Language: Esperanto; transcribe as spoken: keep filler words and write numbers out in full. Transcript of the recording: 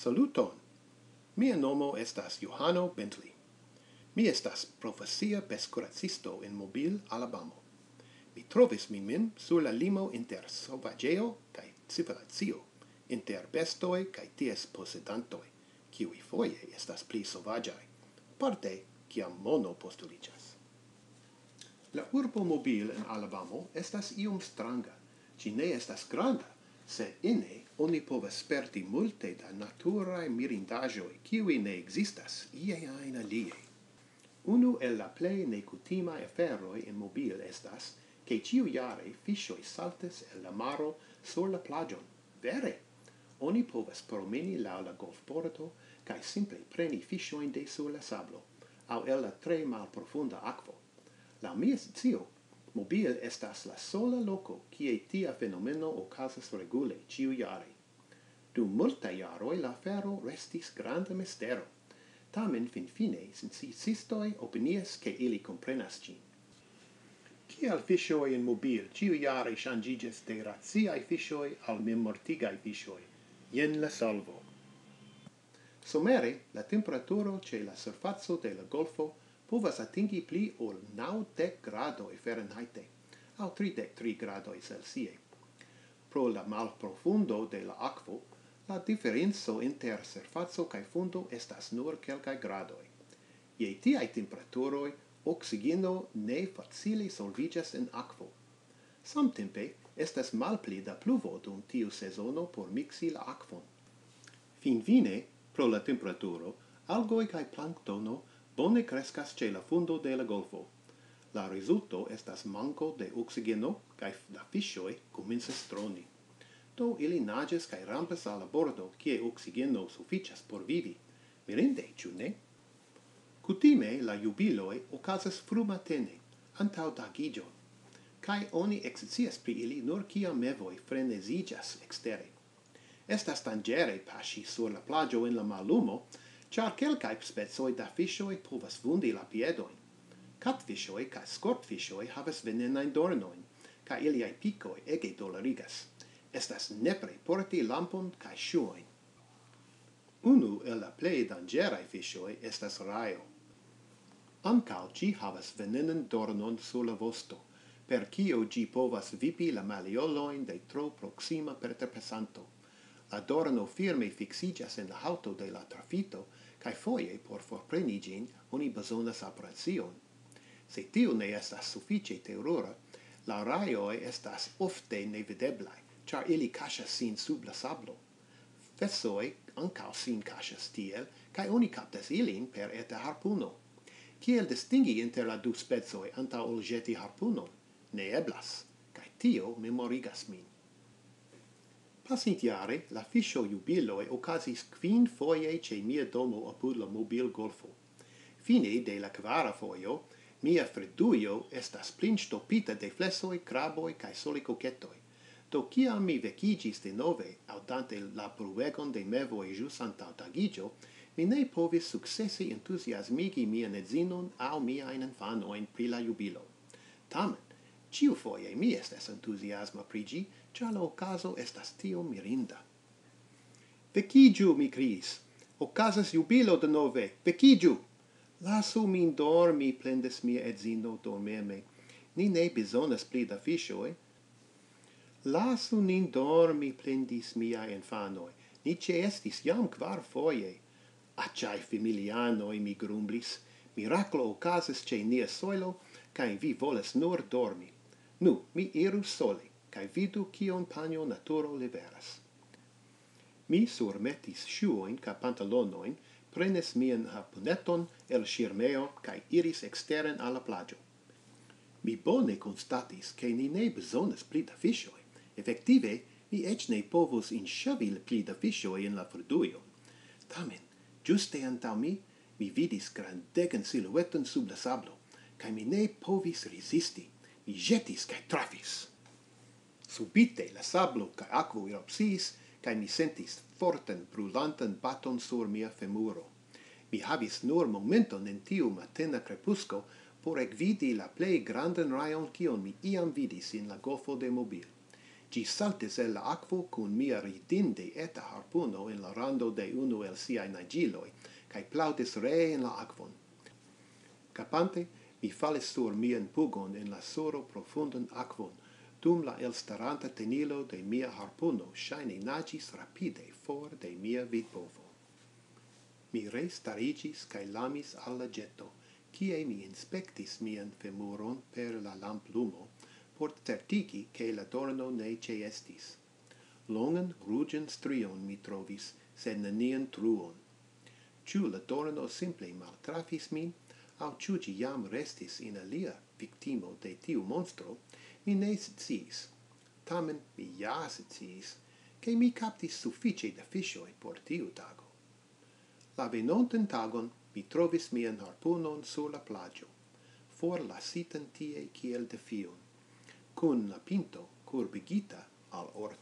Saluton! Mia nomo estas Johano Bentley. Mi estas profesia pestkuracisto en Mobile, Alabamo. Mi trovis min mem sur la limo inter sovaĝejo kaj civilizacio, inter bestoj kaj ties posedantoj, kiuj foje estas pli sovaĝaj, parte kiam mono postuliĝas. La urbo Mobile en Alabamo estas iom stranga. Ĝi ne estas granda, sed ene oni povas sperti multe da naturaj mirindaĵoj, kiuj ne ekzistas ie ajn alie. Unu el la plej nekutimaj aferoj en Mobile estas, ke ĉiujare fiŝoj saltas el la maro sur la plaĝon. Vere! Oni povas promeni laŭ la golfbordo kaj simple preni fiŝojn de sur la sablo, aŭ el la tre malprofunda akvo. Laŭ mia scio, Mobile estas la sola loko, kie tia fenomeno okazas regule ĉiujare. Dum multaj jaroj la afero restis granda mistero. Tamen finfine sciencistoj opinias, ke ili komprenas ĝin. Kial fiŝoj en Mobile ĉiujare ŝanĝiĝas de raciaj fiŝoj al memmortigaj fiŝoj? Jen la solvo. Somere, la temperaturo ĉe la surfaco de la golfo povas atingi pli ol naŭdek gradoj Fahrenheit aŭ tridek tri gradoj Celsiaj. Pro la malprofundo de la akvo, la diferenco inter surfaco kaj fundo estas nur kelkaj gradoj. Je tiaj temperaturoj, oksigeno ne facile solviĝas en akvo. Samtempe, estas malpli da pluvo dum tiu sezono por miksi la akvon. Finfine, pro la temperaturo, algoj kaj planktono bone kreskas ĉe la fundo de la golfo. La rezulto estas manko de oksigeno, kaj la fiŝoj komencas droni. Do ili naĝas kaj rampas al la bordo, kie oksigeno sufiĉas por vivi. Mirinde, ĉu ne? Kutime la jubiloj okazas frumatene, antaŭ tagiĝo, kaj oni ekscias pri ili nur kiam mevoj freneziĝas ekstere. Estas danĝere paŝi sur la plaĝo en la mallumo, ĉar kelkaj specoj da fiŝoj povas vundi la piedojn. Katfiŝoj kaj skortfiŝoj havas venenajn dornojn, kaj iliaj pikoj ege dolorigas. Estas nepre porti lampon kaj ŝuojn. Unu el la plej danĝeraj fiŝoj estas rajo. Ankaŭ ĝi havas venenan dornon sur la vosto, per kio ĝi povas vipi la maliolojn de tro proksima preterpasanto. La dorno firme fiksiĝas en la haŭto de la trafito, kaj foje por forpreni ĝin oni bezonas operacion. Se tio ne estas sufiĉe terura, la rajoj estas ofte nevideblaj, ĉar ili kaŝas sin sub la sablo. Fesoj ankaŭ sin kaŝas tiel, kaj oni kaptas ilin per eta harpuno. Kiel distingi inter la du specoj antaŭ ol ĵeti harpunon? Ne eblas, kaj tio memorigas min. Pasintjare la fiŝo-jubiloj okazis kvin foje ĉe mia domo apud la mobilgolfo. Fine de la kvara fojo, mia fredujo estas plinŝtopita de flesoj, kraboj kaj solikoketoj. Do kiam mi vekiĝis denove, aŭdante la bruegon de mevoj ĵus antaŭ tagiĝo, mi ne povis sukcesi entuziasmigi mian edzinon aŭ miajn infanojn pri la jubilo. Tamen, ĉiufoje mi estas entuziasma pri ĝi, ĉar la okazo estas tiom mirinda. "Vekiĝu!" mi kriis. "Okazas jubilo denove! Vekiĝu!" "Lasu min dormi," plendas mia edzino dormeme. "Ni ne bezonas pli da fiŝoj." "Lasu nin dormi," plendis miaj infanoj. "Ni ĉeestis jam kvar foje." "Aĉaj familianoj," mi grumblis. "Miraklo okazas ĉe nia sojlo, kaj vi volas nur dormi. Nu, mi iru sole, kaj vidu, kion panjo naturo liveras." Mi surmetis ŝuojn kaj pantalonojn, prenis mian harpuneton el ŝirmejo kaj iris eksteren al la plaĝo. Mi bone konstatis, ke ni ne bezonas pli da fiŝoj. Efektive, mi eĉ ne povus inŝavi pli da fiŝoj en la frudujon. Tamen, ĝuste antaŭ mi, mi vidis grandegan silueton sub la sablo, kaj mi ne povis rezisti. Mi ĵetis kaj trafis. Subite la sablo kaj akvo erupciis, kaj mi sentis fortan brulantan baton sur mia femuro. Mi havis nur momenton en tiu matena krepusko por ekvidi la plej grandan rajon, kion mi iam vidis en la golfo de Mobil. Ĝi saltis el la akvo kun mia ridinde eta harpuno en la rando de unu el siaj naĝiloj, kaj plaŭdis ree en la akvon. Kapante, mi falis sur mian pugon en la suro profundan akvon, dum la elstaranta tenilo de mia harpuno ŝajne naĝis rapide for de mia vidpovo. Mi restariĝis kaj lamis al la ĝeto, kie mi inspektis mian femuron per la lamplumo, por certigi, ke la dorno ne ĉeestis. Longan ruĝan strion mi trovis, sed nenian truon. Ĉu la dorno simple maltrafis min, aŭ ĉu ĝi jam restis in alia viktimo de tiu monstro, mi ne sciis. Tamen mi ja sciis, ke mi kaptis sufiĉe da fiŝoj por tiu tago. La venontan tagon mi trovis mian harpunon sur la plaĝo, forlasitan tie kiel defion, kun la pinto kurbigita al or-